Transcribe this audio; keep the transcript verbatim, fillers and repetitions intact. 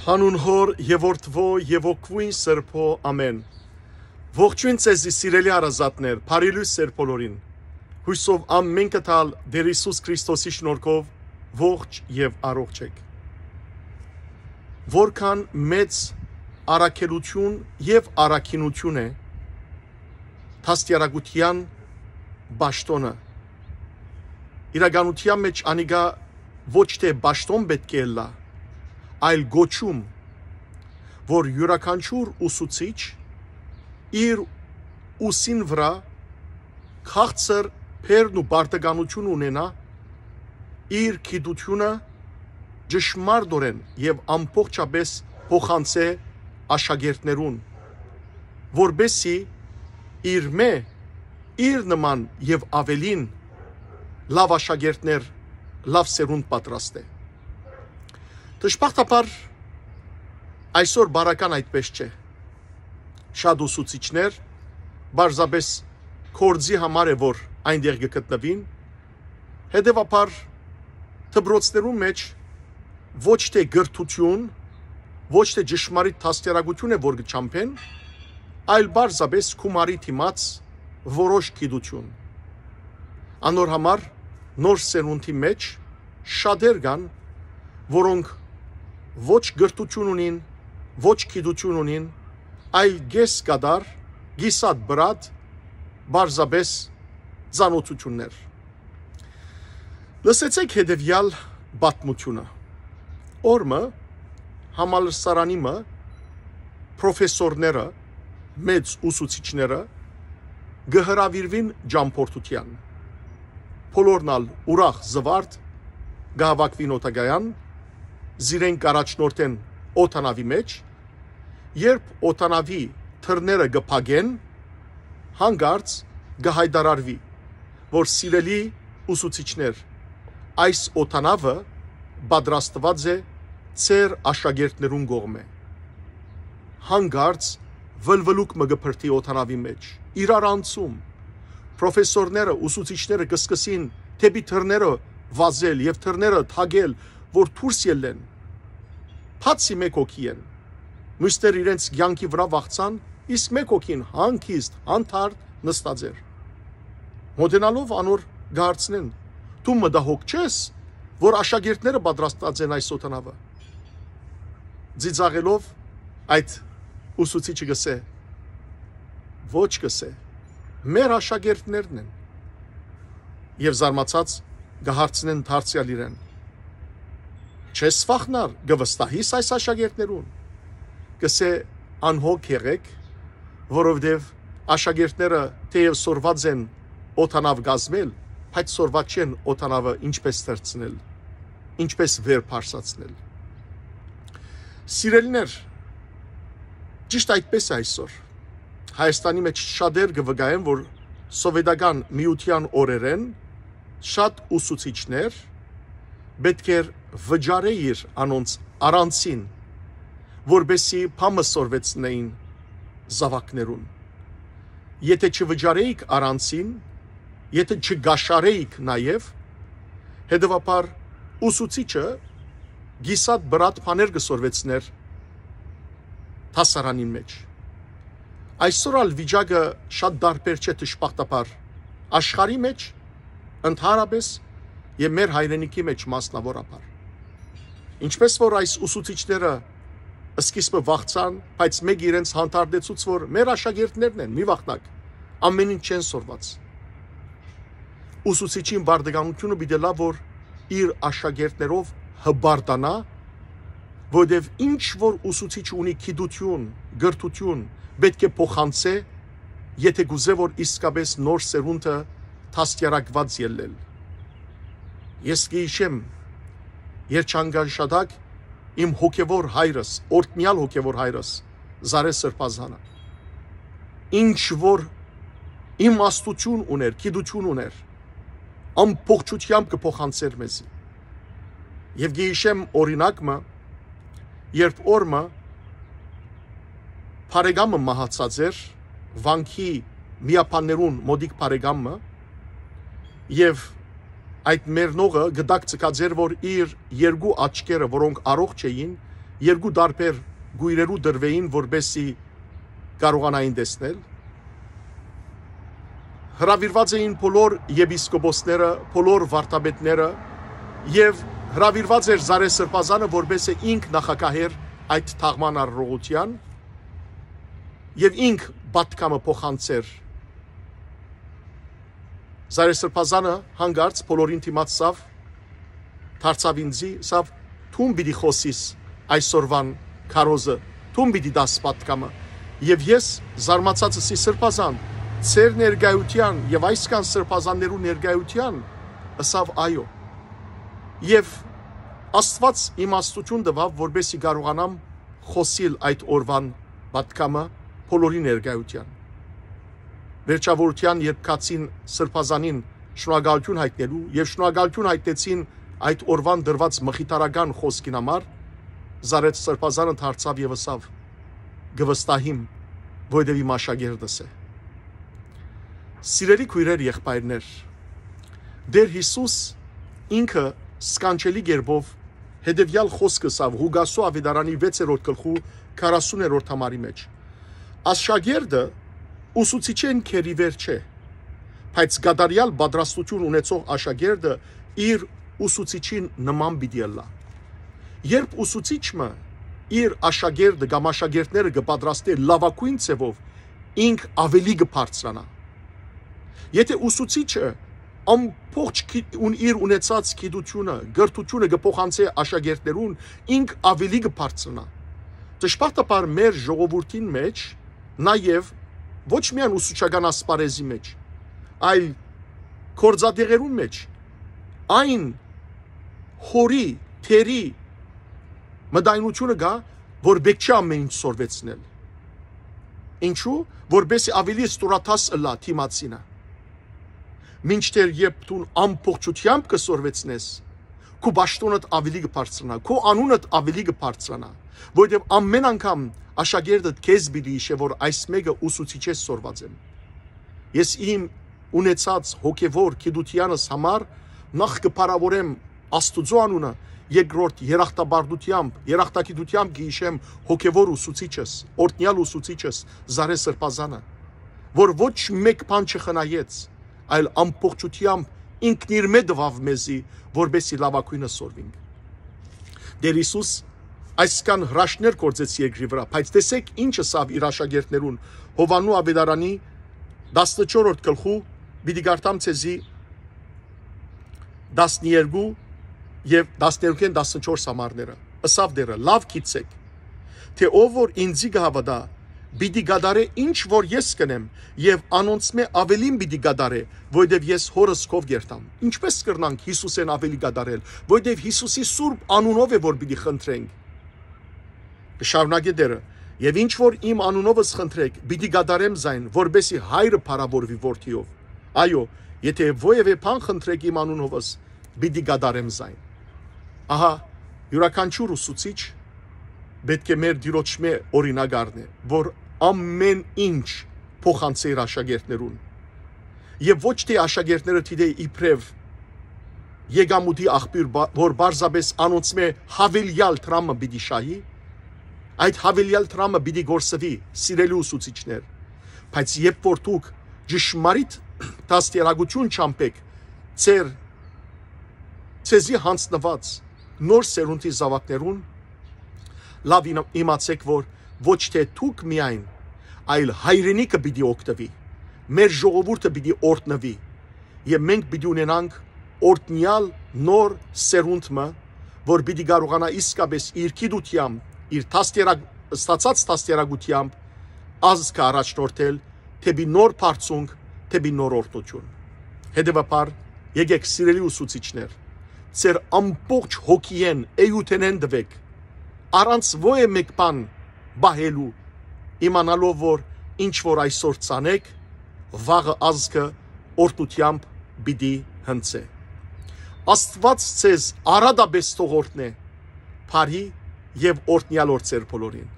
Հանուն Հօր եւ Որդւոյ եւ Հոգւոյն Սրբոյ, ամէն։ Ողջոյն ձեզի, սիրելի հարազատներ, բարի լոյս ձեր բոլորին։ Յուսով ամէնքը տալ Տեր Յիսուս Քրիստոսի շնորհքով ողջ եւ առողջ եք։ Որքան մեծ առաքելութիւն եւ առաքինութիւն է դաստիարակութեան պաշտօնը։ Իրականութեան մէջ անիկա ոչ թէ պաշտօն պէտք է ըլլայ, այլ կոչում, որ իւրաքանչիւր ուսուցիչ իր ուսին վրայ քաղցր բերն ու պարտականութիւն ունենայ, իր գիտութիւնը ճշմարտօրէն եւ ամբողջապէս փոխանցէ աշակերտներուն, որպէսզի իրմէ իր նման եւ աւելին լաւ աշակերտներ, լաւ սերունդ պատրաստէ։ Դժբախտաբար, այսօր բարական այդպէս չէ։ Շատ ուսուցիչներ պարզապէս գործի համար է, որ այնտեղ կը գտնուին, հետեւաբար դպրոցներուն մէջ ոչ թէ կրթութիւն, ոչ թէ ճշմարիտ դաստիարակութիւն է, որ կը չամբեն, այլ պարզապէս գումարի դիմաց որոշ գիտութիւն։ Անոր համար նոր սերունդի մէջ շատեր կան, որոնք ոչ կրթութիւն ունին, ոչ գիտութիւն ունին, այլ կես կատար, կիսատ բրատ, պարզապէս ծանօթութիւններ։ Լսեցէք հետեւեալ պատմութիւնը։ Օր մը համալսարանի մը պրոֆեսորները, մեծ ուսուցիչները կը հրաւիրուին ճամբորդութեան։ Բոլորն ալ ուրախ զուարթ կը հաւաքուին օդակայան, զիրենք կ'առաջնորդեն օդանաւի մէջ, երբ օդանաւի դռները կը փակեն, հանկարծ կը յայտարարուի, որ սիրելի ուսուցիչներ, այս օդանաւը պատրաստուած է ձեր աշակերտներուն կողմէ։ Հանկարծ վլվլուկ մը կը բրդի օդանաւի մէջ, իրարանցում։ Պրոֆեսորները, ուսուցիչները կը սկսին դէպի դռները վազել եւ դռները թակել, որ դուրս ելլեն։ Բացի մէկ հոգի են։ Մյուսները իրենց կեանքի վրայ վախցան, իսկ մէկ հոգին հանգիստ, հանդարտ նստած էր։ Մօտենալով անոր կը հարցնեն. «Դու մտահոգ չես, որ աշակերտները պատրաստած են այս օդանաւը»։ Ծիծաղելով, այդ ուսուցիչը կ'ըսէ. «Ոչ», կ'ըսէ, «մեր աշակերտներն են»։ Եւ զարմացած կը հարցնեն դարձեալ իրեն. «Չես վախնար, կը վստահի՞ս այս աշակերտներուն»։ Կ'ըսէ. «Անհոգ եղէք, որովհետեւ աշակերտները թէեւ սորված են օդանաւ կազմել, բայց սորված չեն օդանավը ինչպես թռցնել, ինչպես վեր բարձրացնել»։ Սիրելիներ, ճիշտ այդպես է այսօր։ Հայաստանի մէջ շատեր կը վկայեն, որ սովետական միութեան օրերէն շատ ուսուցիչներ պէտք էր վճարէիր անոնց առանձին, որպեսզի բան մը սորվեցնեին զաւակներուն։ Եթէ չվճարէիք առանձին, եթէ չկաշառէիք նաեւ, հետեւաբար ուսուցիչը կիսատ բրատ բաներ կը սորվեցնէր դասարանին մէջ։ Այսօր ալ վիճակը շատ տարբեր չէ, դժբախտաբար, աշխարհի մէջ, ընդհանրապէս, եւ մեր հայրենիքի մէջ մասնաւորաբար։ Ինչպես որ այս ուսուցիչները սկիզբը վախցան, բայց մէկ իրենց հանդարտեցուց, որ մեր աշակերտներն են, մի վախնաք, ամեն ինչ չեն սորված։ Ուսուցիչին պարտականութիւնը պիտի լա, որ իր աշակերտներով հպարտանայ, որովհետեւ ինչ որ ուսուցիչ ունի գիտութիւն, կրթութիւն, պէտք է փոխանցէ, եթէ կ'ուզէ, որ իսկապէս նոր սերունդը դաստիարակուած ելլել։ Ես կը յիշեմ, երջանկան շատակ իմ հոգեվոր հայրս, օրհնեալ հոգեվոր հայրս, Զարէ Սրբազանը, ինչ որ իմաստութիւն ունէր, գիտութիւն ունէր, ամբողջութեամբ կը փոխանցէր մեզի։ Եւ կը յիշեմ օրինակ մը, երբ օր մը բարեկամը մահացած էր, վանքի միաբաններուն մօտիկ բարեկամը, եւ այդ մեռնողը գդակ ձգած էր, որ իր երկու աչքերը, որոնք առողջ էին, երկու տարբեր կոյրերու տրուէին, որպեսզի կարողանային տեսնել։ Հրաւիրուած էին բոլոր եպիսկոպոսները, բոլոր վարդապետները, եւ հրաւիրուած էր Զարեհ Սրբազանը, որպեսզի ինք նախագահ էր այդ թաղման արարողութեան, եւ ինք պատգամը փոխանցեր։ Զարեհ Սրբազանը հանկարծ բոլորին դիմաց սավ դարձաւ ինձի, սավ դուն պիտի խօսիս այսօրվան քարոզը, դուն պիտի տաս պատգամը։ Եւ ես զարմացած ըսի Սրբազան, ձեր ներկայութեան եւ այսքան սրբազաններու ներկայութեան, ըսաւ այո։ Եւ Աստուած իմաստութիւն տուաւ, որպեսզի կարողանամ խօսիլ այդ օրուան պատգամը բոլորի ներկայութեան։ Վերջավորութեան, երբ գացին Սրբազանին շնորհակալութիւն յայտնելու եւ շնորհակալութիւն յայտնեցին այդ օրուան տրուած մխիթարական խօսքին համար, Զարեհ Սրբազանը դարձաւ եւ ըսաւ. «Կը վստահիմ, որովհետեւ իմ աշակերտս է»։ Սիրելի քոյրեր, եղբայրներ, Տէր Յիսուս ինքը սքանչելի կերպով հետեւեալ խօսքը ըսաւ Ղուկասու աւետարանի վեցերորդ գլխու քառասուներորդ համարի մէջ. «Աշակերտը ուսուցիչէն գերիվեր չէ, բայց կատարեալ պատրաստութիւն ունեցող աշակերտը իր ուսուցիչին նման պիտի ըլլայ»։ Երբ ուսուցիչ մը իր աշակերտը կամ աշակերտները կը պատրաստէ լաւագոյն ձեւով, ինք աւելի կը բարձրանայ։ Եթէ ուսուցիչը ամբողջ գի-, ուն-, իր ունեցած գիտութիւնը, կրթութիւնը կը փոխանցէ աշակերտներուն, ինք աւելի կը բարձրանայ։ Դժբախտաբար մեր ժողովուրդին մէջ նաեւ ոչ միայն ուսուցչական ասպարէզի մէջ, այլ գործատեղերուն մէջ այն հօրի, թերի մտայնութիւնը կայ, որ պէտք չէ ամեն ինչ սորվեցնել։ Ինչու՞, որպեսզի աւելի ստորադաս ըլլայ դիմացինը։ Մինչդեռ երբ դուն ամբողջութեամբ կը սորվեցնես, քու պաշտօնդ աւելի կը բարձրանայ, քու անունդ աւելի կը բարձրանայ, որովհետեւ ամեն անգամ աշակերտդ քեզ պիտի յիշէ, որ այս մէկը ուսուցիչէս սորված եմ։ Ես իմ ունեցած հոգեվոր գիտութեանս համար նախ կը փառաւորեմ Աստուծոյ անունը, երկրորդ երախտապարտութեամբ, երախտագիտութեամբ կը յիշեմ հոգեվոր ուսուցիչս, օրհնեալ ուսուցիչս Զարեհ Սրբազանը, որ ոչ մէկ բան չխնայեց, այլ ամբողջութեամբ ինքն իրմէ տուաւ մեզի, որպեսզի լաւագոյնը սորվինք։ Տէր Յիսուս այսքան հրաշքներ գործեց երկրի վրայ, բայց տեսէք ինչ ըսաւ իր աշակերտներուն Յովհաննու աւետարանի տասնչորսերորդ գլխու, պիտի կարդամ ձեզի տասներկու եւ տասներկուքէն տասնչորս համարները։ Ըսաւ Տէրը. «Լաւ գիտցէք, թէ ով որ ինծի կը հաւատայ, պիտի կատարէ ինչ որ ես կ'ընեմ, եւ անոնցմէ աւելին պիտի կատարէ, որովհետեւ ես Հօրս քով կ'երթամ»։ Ինչպէս կրնանք Յիսուսէն աւելի կատարել, որովհետեւ Յիսուսի սուրբ անունով է որ պիտի խնդրենք։ Կը շարունակէ Տէրը. «Եւ ինչ որ իմ անունովս խնդրէք, պիտի կատարեմ զայն, որպեսզի Հայրը փառաւորուի Որդիով։ Այո, եթէ որեւէ բան խնդրէք իմ անունովս, պիտի կատարեմ զայն»։ Ահա, իւրաքանչիւր ուսուցիչ պէտք է մեր Տիրոջմէ օրինակ առնէ, որ ամեն ինչ փոխանցէ իր աշակերտներուն։ Եւ ոչ թէ աշակերտները դիտէ իբրեւ եկամուտի աղբիւր, բա-, որ պարզապէս անոնցմէ յաւելեալ դրամը պիտի շահի, այդ յաւելեալ դրամը պիտի գործուի, սիրելի ուսուցիչներ, բայց երբ որ դուք ճշմարիտ դաստիարակութիւն չամբեք ձեր, ձեզի յանձնուած նոր սերունդի զաւակներուն, լաւ իմ-, իմացէք, որ ոչ թէ դուք միայն, այլ հայրենիքը պիտի օգտուի, մեր ժողովուրդը պիտի օրհնուի, եւ մենք պիտի ունենանք օրհնեալ նոր սերունդ մը, որ պիտի կարողանայ իսկապէս իր գիտութեամբ, իր դաստիարակ-, ստացած դաստիարակութեամբ ազգը առաջնորդել դէպի նոր բարձունք, դէպի նոր օրհնութիւն։ Հետեւաբար, եկէք, սիրելի ուսուցիչներ, ձեր ամբողջ հոգիէն, էութենէն տուէք, առանց որեւէ մէկ բան պահելու, իմանալով, որ ինչ որ այսօր ցանէք, վաղը ազգը օրհնութեամբ պիտի հնձէ։ Աստուած ձեզ արատապէս թող օրհնէ, բարի եւ օրհնեալ օր ձեր բոլորին։